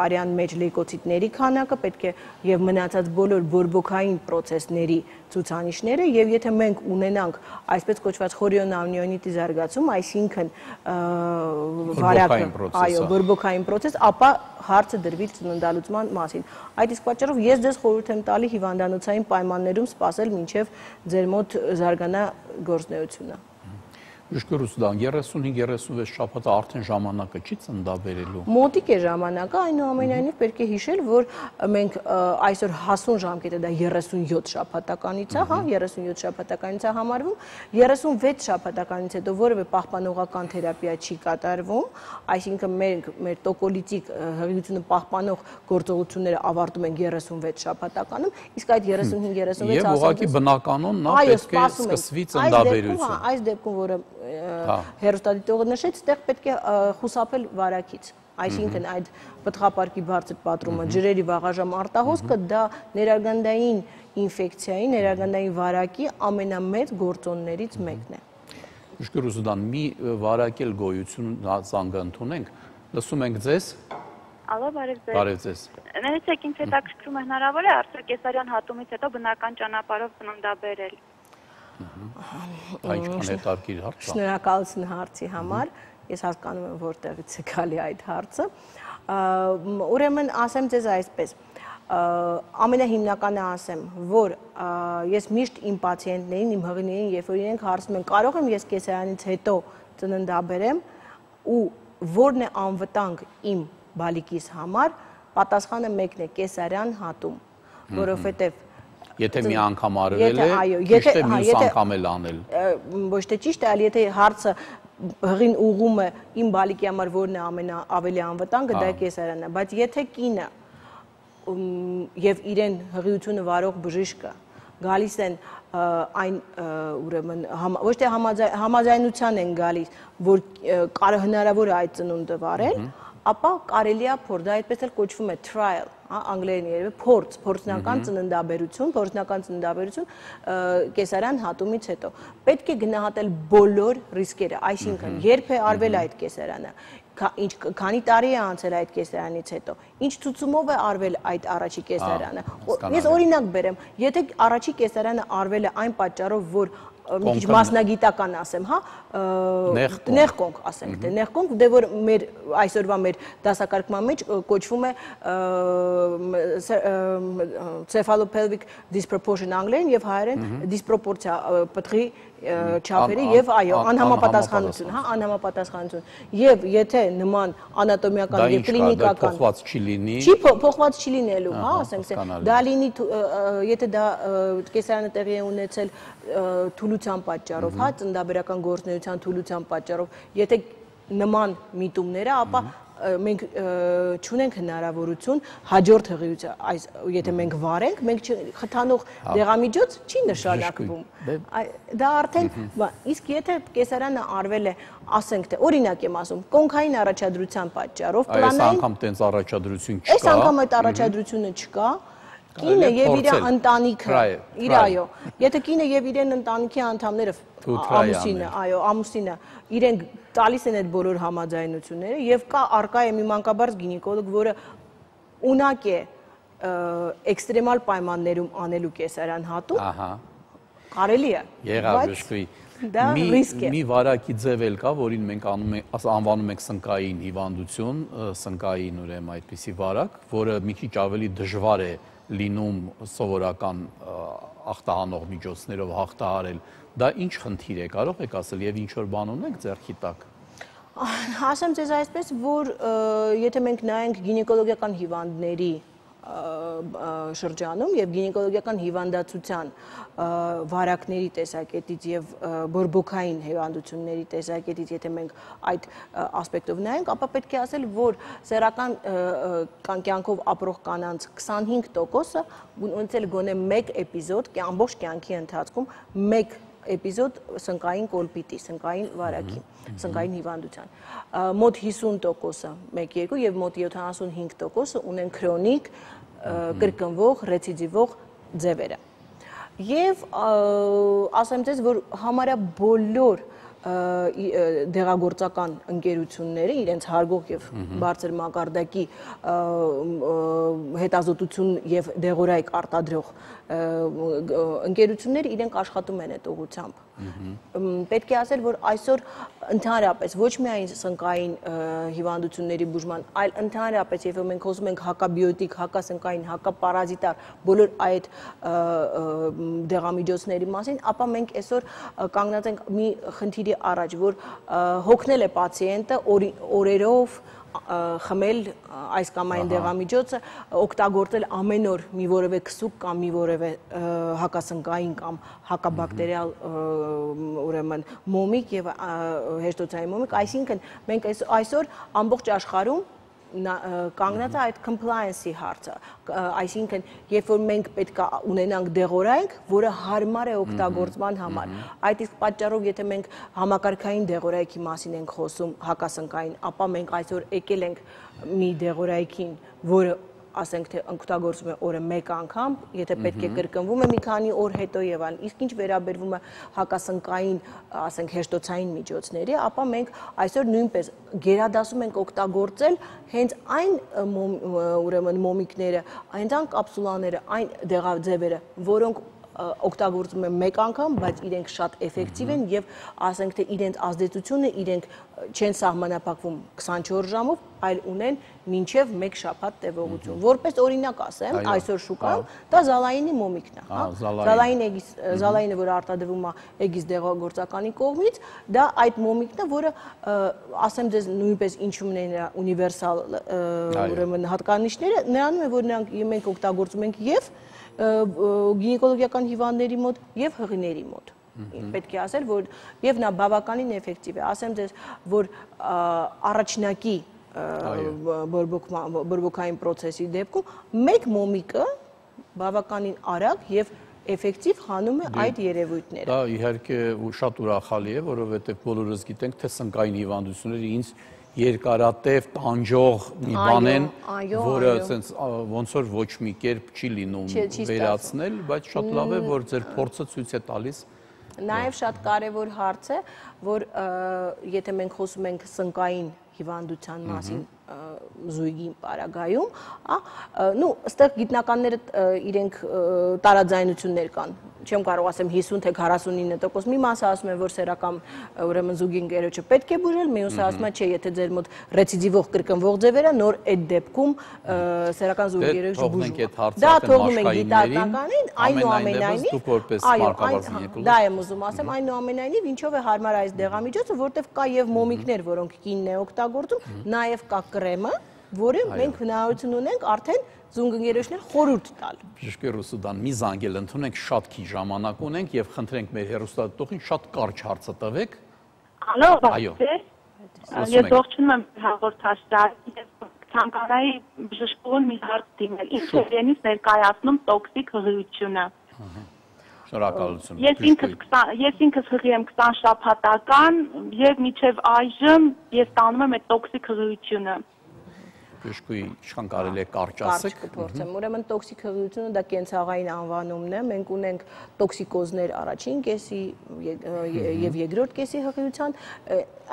արյան մեջ լեյկոցիտների քանակը, պետք է եւ մնացած բոլոր բորբոքային պրոցեսների ցուցանիշները եւ եթե մենք ունենանք այսպես կոչված խորիոնամնիոնիտի զարգացում, այսինքն վարակը, այո, բորբոքային պրոցես, ապա հարցը դրվի ծննդալուծման մասին։ Այդ իսկ պատճառով ես ձեզ խորհուրդ եմ տալի հիվանդանոցային պայմաններում սպասել մինչև ձեր մոտ զարգանա գործունեությունը։ Միշկորուս դան երեսունհինգ երեսունվեց շաբաթը արդեն ժամանակը չի ծննդաբերելու։ Մոտիկ է ժամանակը, այնուամենայնիվ պետք է հիշել, որ մենք այսօր հասուն ժամկետը դա երեսունյոթ շաբաթականից է, հա, երեսունյոթ շաբաթականից է համարվում, երեսունվեց շաբաթականից հետո որևէ պահպանողական թերապիա չի կատարվում, այսինքն մենք մեր տոկոլիտիկ հղիությունը պահպանող գործողությունները ավարտում ենք երեսունվեց շաբաթականում, իսկ այդ երեսունհինգ երեսունվեց Եվ ուղղակի բնականon նա պետք է սկսվի ծննդաբերություն։ Այս դեպքում, որը հեռուստադիտողը նշեց, այդտեղ պետք է խուսափել վարակից, այսինքն այդ պտղապարկի բարձր պատրումը, ջրերի վաղաժամ արտահոսքը դա ներարգանդային ինֆեկցիայի, ներարգանդային վարակի ամենամեծ գործոններից մեկն է։ Միշկորուս դան մի վարակել գոյություն զանգը ընդունենք, լսում ենք ձեզ։ Ալո, բարև ձեզ։ Բարև ձեզ։ Ներեցեք, ինձ հետաքրքրում է հնարավոր է արդյոք կեսարյան հատումից հետո բնական ճանապարհով ծննդաբերել։ Այնքան հետաքրքիր հարց է։ Շնորհակալություն հարցի համար, ես հասկանում եմ որտեղից է գալի այդ հարցը։ Ուրեմն ասեմ ձեզ այսպես, ամենահիմնականը ասեմ, որ ես միշտ իմ պացիենտներին, իմ հղիներին, երբ որ իրենք հարցնում են, կարող եմ ես կեսարանից հետո ծննդաբերեմ ու որն է անվտանգ իմ բալիկիս համար, պատասխանը մեկն է՝ կեսարյան հատում, որովհետև Եթե մի անգամ արվել է, ճիշտ է մյուս անգամ էլ անել։ Ոչ թե ճիշտ է, այլ եթե հարցը հղին ուղում է իմ բալիկի համար որն է ամենաավելի անվտանգը, դա կեսարանն է, բայց եթե կինը եւ իրեն հղիությունը վարող բժիշկը գալիս են այն ուրեմն ոչ թե համաձայնության են գալիս, որ հնարավոր է այդ ծնունդը վարել, ապա կարելի է փոր, դա այդպես էլ կոչվում է trial, անգլերեն երևի փորձ, փորձնական ծննդաբերություն, փորձնական ծննդաբերություն կեսարյան հատումից հետո։ Պետք է գնահատել բոլոր ռիսկերը, այսինքն երբ է արվել այդ կեսարյանը, քանի տարի է անցել այդ կեսարանից հետո, ինչ ցուցումով է արվել այդ առաջի կեսարյանը։ Ես օրինակ բերեմ, եթե առաջի կեսարյանը արվել է այն պատճառով, որ մի քիչ մասնագիտական ասեմ, հա, նեղկոնք ասենք, թե նեղկոնք, դե որ մեր այսօրվա մեր դասակարգման մեջ կոչվում է cephalopelvic disproportion անգլերեն եւ հայերեն դիսպրոպորցիա պտղի չափերի եւ այո, անհամապատասխանություն, հա, անհամապատասխանություն։ Եվ եթե նման անատոմիական եւ կլինիկական փոխված չի լինի, չի փոխված չի լինելու, հա, ասենք, դա լինի, եթե դա կեսարյանը տեղի է ունեցել թուլության պատճառով, հա, ծննդաբերական գործունեության թուլության պատճառով, եթե նման միտումները, ապա մենք չունենք հնարավորություն հաջորդ հղիության, այս եթե մենք վարենք, մենք խթանող դեղամիջոց չի նշանակվում։ Դա արդեն, իսկ եթե կեսարյանը արվել է, ասենք թե օրինակ եմ ասում, կոնքային առաջադրության պատճառով, այս անգամ տենց առաջադրություն չկա։ Այս անգամ այդ առաջադրությունը չկա։ Կինը եւ իր ընտանիքը, իր այո, եթե կինը եւ իրեն ընտանիքի անդամները, ամուսինը, այո, ամուսինը իրենք տալիս են այդ բոլոր համաձայնությունները եւ կա արկա է մի մանկաբարձ գինեկոլոգ, որը ունակ է էքստրեմալ պայմաններում անելու կեսարյան հատում, ահա, կարելի է։ Եղավ բժշկուի։ Դա ռիսկ է։ Մի վարակի ձև էլ կա, որին մենք անվանում ենք սնկային հիվանդություն, սնկային ուրեմն այդպիսի վարակ, որը մի քիչ ավելի դժվար է լինում սովորական ախտահանող միջոցներով հաղթահարել, դա ինչ խնդիր է, կարող եք ասել եւ ինչ որ բան ունեք ձեռքի տակ։ Ասեմ ձեզ այսպես, որ եթե մենք նայենք գինեկոլոգիական հիվանդների շրջանում եւ գինեկոլոգիական հիվանդացության վարակների տեսակետից եւ բորբոքային հիվանդությունների տեսակետից, եթե մենք այդ ասպեկտով նայենք, ապա պետք է ասել, որ սեռական կյանքով ապրող կանանց քսանհինգ տոկոսը ունեցել գոնե մեկ էպիզոդ ամբողջ կյանքի ընթացքում մեկ էպիզոդ սնկային կոլպիտի, սնկային վարակի, սնկային հիվանդության։ Մոտ հիսուն տոկոսը մեկ երկու եւ մոտ յոթանասունհինգ տոկոսը ունեն քրոնիկ կրկնվող, ռեցիդիվող ձևերը։ Եվ ասեմ ձեզ, որ համարյա բոլոր դեղագործական ընկերությունները իրենց հարգող եւ բարձր մակարդակի հետազոտություն եւ դեղորայք արտադրող ընկերությունները իրենք աշխատում են այդ ուղղությամբ։ Պետք է ասել, որ այսօր ընդհանրապես ոչ միայն սնկային հիվանդությունների բուժման, այլ ընդհանրապես երբ մենք խոսում ենք հակաբիոտիկ, հակասնկային, հակապարազիտար բոլոր այդ դեղամիջոցների մասին, ապա մենք այսօր կանգնած ենք մի խնդիրի առաջ, որ հոգնել է պացիենտը օրերով խմել այս կամ այն դեղամիջոցը, օգտագործել ամեն օր մի որևէ քսուկ կամ մի որևէ հակասնկային կամ հակաբակտերիալ ուրեմն մոմիկ եւ հեշտոցային մոմիկ, այսինքն մենք այսօր ամբողջ աշխարհում կանգնած է այդ compliance-ի հարցը, այսինքն երբ որ մենք պետք է ունենանք դեղորայք, որը հարմար է օգտագործման համար, այդ իսկ պատճառով եթե մենք համակարգային դեղորայքի մասին ենք խոսում հակասնկային, ապա մենք այսօր եկել ենք մի դեղորայքին, որը ասենք թե օգտագործում է օրը մեկ անգամ, եթե պետք է կրկնվում է մի քանի օր հետո եւ այլն, իսկ ինչ վերաբերվում է հակասնկային, ասենք հեշտոցային միջոցների, ապա մենք այսօր նույնպես գերադասում ենք օգտագործել հենց այն ուրեմն մոմիկները, հենց այն կապսուլաները, այն դեղաձևերը, որոնք օգտագործում են մեկ անգամ, բայց իրենք շատ էֆեկտիվ են եւ ասենք թե իրենց ազդեցությունը իրենք չեն սահմանափակվում քսանչորս ժամով, այլ ունեն մինչև մեկ շաբաթ տևողություն։ Որպես օրինակ ասեմ, այսօր շուկայում դա զալայինի մոմիկն է, հա։ Զալային էգիս, զալայինը, որը արտադրվում է էգիս դեղագործականի կողմից, դա այդ մոմիկն է, որը ասեմ ձեզ նույնպես ինչու՞մն է նրա ունիվերսալ ուրեմն հատկանիշները, նրանում է, որ նրանք մենք օգտագործում ենք եւ գինեկոլոգիական հիվանդների մոտ եւ հղիների մոտ։ Պետք է ասել, որ եւ նա բավականին էֆեկտիվ է։ Ասեմ ձեզ, որ առաջնակի բորբոքային process-ի դեպքում մեկ մոմիկը բավականին արագ եւ էֆեկտիվ հանում է այդ երևույթները։ Դա իհարկե շատ ուրախալի է, որովհետեւ բոլորս գիտենք, թե սնկային հիվանդությունները ինձ երկարատև տանջող մի բան են, որը ոնց որ ոչ մի կերպ չի լինում վերացնել, բայց շատ լավ է, որ ձեր փորձը ցույց է տալիս։ Նաև շատ կարևոր հարց է, որ եթե մենք խոսում ենք սնկային հիվանդության մասին զույգի պարագայում, նու ստեղ գիտնականները իրենք տարաձայնություններ կան, չեմ կարող ասեմ հիսուն թե քառասունինը տոկոս, մի մասը ասում են, որ սեռական ուրեմն զուգի ընկերոջը պետք է բուժել, մյուսը ասում է, չէ, եթե ձեր մոտ ռեցիդիվող կրկնվող ձևեր է, նոր այդ դեպքում սեռական զուգի ընկերոջը բուժում։ Դա թողնում ենք գիտականին, այնուամենայնիվ, այո, դա եմ ուզում ասեմ, այնուամենայնիվ ինչով է հարմար այս դեղամիջոցը, որտեղ կա եւ մոմիկներ, որոնք կինն է օգտագործում, նաեւ կա կրեմը, որը մենք հնարավորություն ունենք արդեն զունգընկերոջներ խորհուրդ տալ։ Բժշկեր Ռուսուդան, մի զանգել ընդունենք, շատ քիչ ժամանակ ունենք եւ խնդրենք մեր հեռուստադիտողին շատ կարճ հարցը տվեք։ Ալո, բարև։ Ես ողջունում եմ հաղորդաշարին, ես ցանկանայի բժշկուհուն մի հարց դիմել։ Ինչ է իրենից ներկայացնում տոքսիկ հղիությունը։ Շնորհակալություն։ Ես ինքս ես ինքս հղի եմ քսան շաբաթական եւ մինչեւ այժմ ես տանում եմ այդ տոքսիկ հղիությունը։ Բժշկուհի, ինչքան կարելի է կարճ ասեք։ Կարճ կփորձեմ։ Ուրեմն տոքսիկ հղիությունը դա կենցաղային անվանումն է։ Մենք ունենք տոքսիկոզներ առաջին կեսի եւ երկրորդ կեսի հղիության,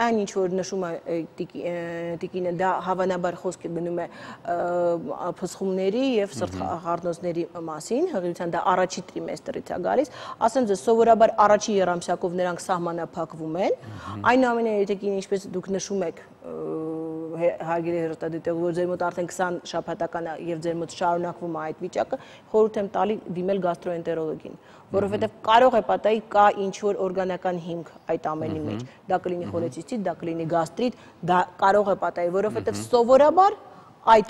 այն ինչ որ նշում է տիկինը, դա հավանաբար խոսքը գնում է փսխումների եւ սրտխառնոցների մասին, հղիության դա առաջի տրիմեստրից է գալիս։ Ասեմ ձեզ, սովորաբար առաջի երամսյակով նրանք սահմանափակվում են։ Այնուամենայնիվ, եթե կին ինչպես դուք նշում եք հարգելի հեռուստադիտող, որ ձեր մոտ արդեն քսան շաբաթական է եւ ձեր մոտ շարունակվում է այդ վիճակը, խորհուրդ եմ տալի դիմել գաստրոենտերոլոգին, որովհետեւ կարող է պատահի կա ինչ որ օրգանական հիմք այդ ամենի մեջ։ Դա կլինի խոլեցիստիտ, դա կլինի գաստրիտ, դա կարող է պատահի, որովհետեւ սովորաբար այդ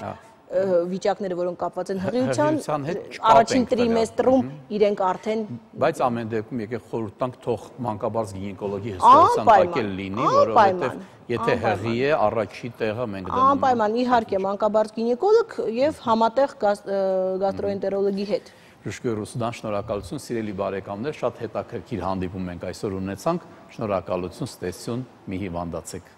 վիճակները, որոնք կապված են հղիության հետ, առաջին տրիմեստրում իրենք արդեն բայց ամեն դեպքում եկեք խորհուրդ տանք թող մանկաբարձ գինեկոլոգի հստակության տակ էլ լինի, որովհետև եթե հղի է, առաջի տեղը մենք դնում ենք։ Անպայման, իհարկե, մանկաբարձ գինեկոլոգ եւ համատեղ գաստրոենտերոլոգի հետ։ Բժշկուհի Ռուսուդան, շնորհակալություն, սիրելի բարեկամներ, շատ հետաքրքիր հանդիպում մենք այսօր ունեցանք, շնորհակալություն, ստեսություն, մի հիվանդացեք։